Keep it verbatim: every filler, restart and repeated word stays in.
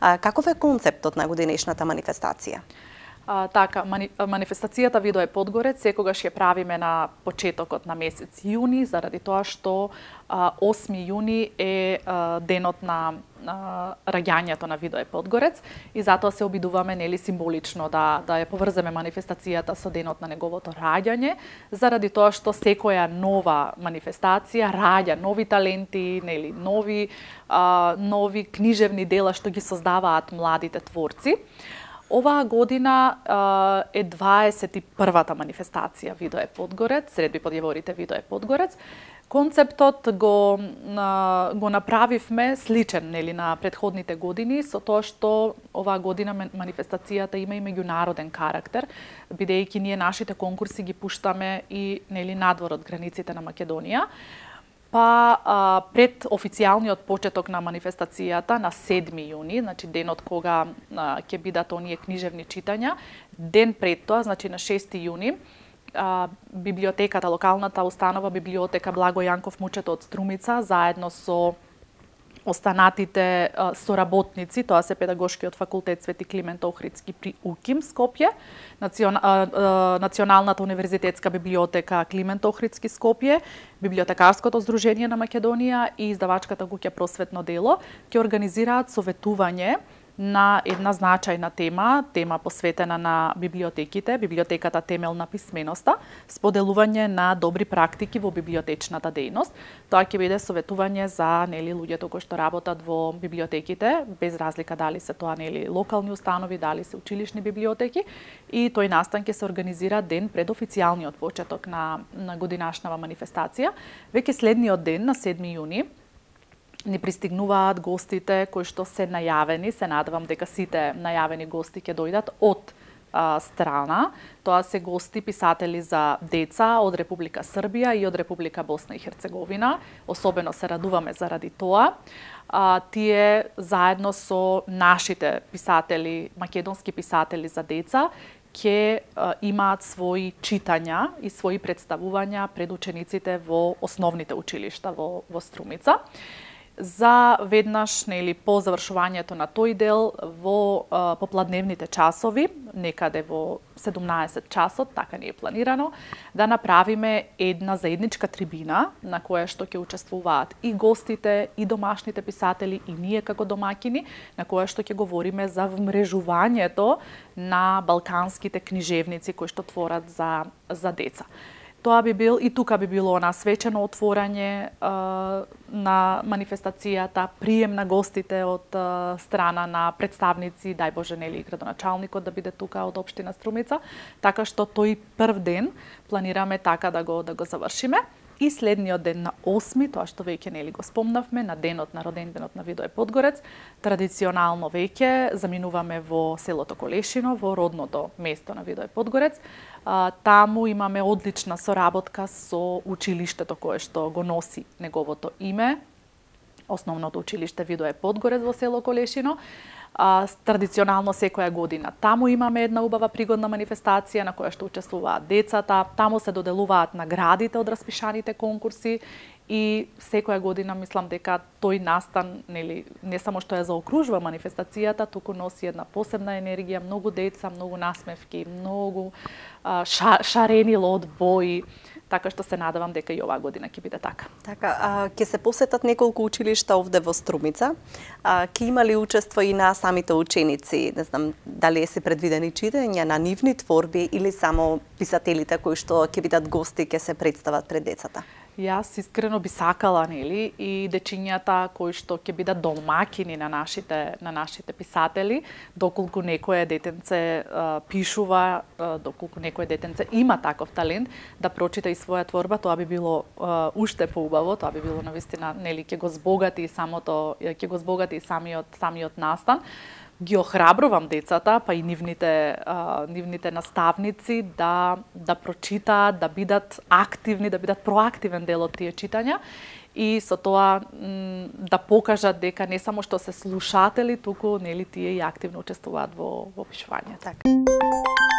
А, каков е концептот на годинешната манифестација? А, така, мани, манифестацијата Видое Подгорец секогаш ја правиме на почетокот на месец јуни, заради тоа што а, осми јуни е а, денот на а, раѓањето на Видое Подгорец и затоа се обидуваме нели символично да да ја поврземе манифестацијата со денот на неговото раѓање, заради тоа што секоја нова манифестација раѓа нови таленти, нели нови а, нови книжевни дела што ги создаваат младите творци. Оваа година а, е дваесет и првата манифестација Видое Подгорец, сред подјаворите Видое Подгорец. Концептот го а, го направивме сличен нели на претходните години со тоа што оваа година манифестацијата има и меѓународен карактер, бидејќи ние нашите конкурси ги пуштаме и нели надвор од границите на Македонија. Па а, пред официјалниот почеток на манифестацијата на седми јуни, значи денот кога а, ќе бидат оние книжевни читања, ден пред тоа, значи на шести јуни, а, библиотеката, локалната установа библиотека Благо Јанков Мучето од Струмица, заедно со останатите а, соработници, тоа се Педагошкиот факултет Свети Климент Охридски при УКИМ Скопје, национ, а, а, Националната универзитетска библиотека Климент Охридски Скопје, Библиотекарското здружение на Македонија и издавачката куќа Просветно дело ќе организираат советување на една значајна тема, тема посветена на библиотеките, библиотеката темел на писменоста, споделување на добри практики во библиотечната дејност. Тоа ќе биде советување за нели луѓето кои што работат во библиотеките, без разлика дали се тоа нели локални установи, дали се училишни библиотеки, и тој настан ќе се организира ден пред официјалниот почеток на на годинашнава манифестација. Веќе следниот ден на седми јуни ни пристигнуваат гостите кои што се најавени, се надевам дека сите најавени гости ќе дојдат од а, страна. Тоа се гости писатели за деца од Република Србија и од Република Босна и Херцеговина. Особено се радуваме заради тоа. А, тие заедно со нашите писатели, македонски писатели за деца, ќе имаат своји читања и своји представувања пред учениците во основните училишта во, во Струмица. За веднаш нели по завршувањето на тој дел во а, попладневните часови, некаде во седумнаесет часот, така ни е планирано, да направиме една заедничка трибина на која што ќе учествуваат и гостите, и домашните писатели, и ние како домаќини, на која што ќе говориме за вмрежувањето на балканските книжевници кои што творат за за деца. Тоа би бил и тука би било на свечено отворање а, на манифестацијата, прием на гостите од а, страна на представници, дај Боже нели градоначалникот да биде тука од општина Струмица, така што тој прв ден планираме така да го да го завршиме. И следниот ден на осми, тоа што веќе нели го спомнавме, на денот на роденденот на Видое Подгорец, традиционално веќе заминуваме во селото Колешино, во родното место на Видое Подгорец. А, таму имаме одлична соработка со училиштето кое што го носи неговото име, основното училиште Видое Подгорец во село Колешино. А, традиционално секоја година таму имаме една убава пригодна манифестација на која што учествуваат децата, таму се доделуваат наградите од распишаните конкурси и секоја година мислам дека тој настан нели не само што ја заокружува манифестацијата, туку носи една посебна енергија, многу деца, многу насмевки, многу а, ша, шарени лод бои. Така што се надевам дека и оваа година ќе биде така. Така, а, ќе се посетат неколку училишта овде во Струмица. А, ќе има ли учество и на самите ученици? Не знам дали се предвидени читања на нивни творби или само писателите кои што ќе бидат гости ќе се представат пред децата? Јас искрено би сакала нели и дечињата кои што ќе бидат домаќини на нашите на нашите писатели, доколку некое детенце а, пишува, а, доколку некое детенце има таков талент да прочита и своја творба, тоа би било а, уште поубаво, тоа би било навистина нели ќе го збогати самото ќе го збогати самиот самиот настан. Ги охрабрувам децата, па и нивните а, нивните наставници да да прочитаат, да бидат активни, да бидат проактивен дел од тие читања и со тоа да покажат дека не само што се слушатели, туку нели тие и активно учествуваат во во пишување. Така.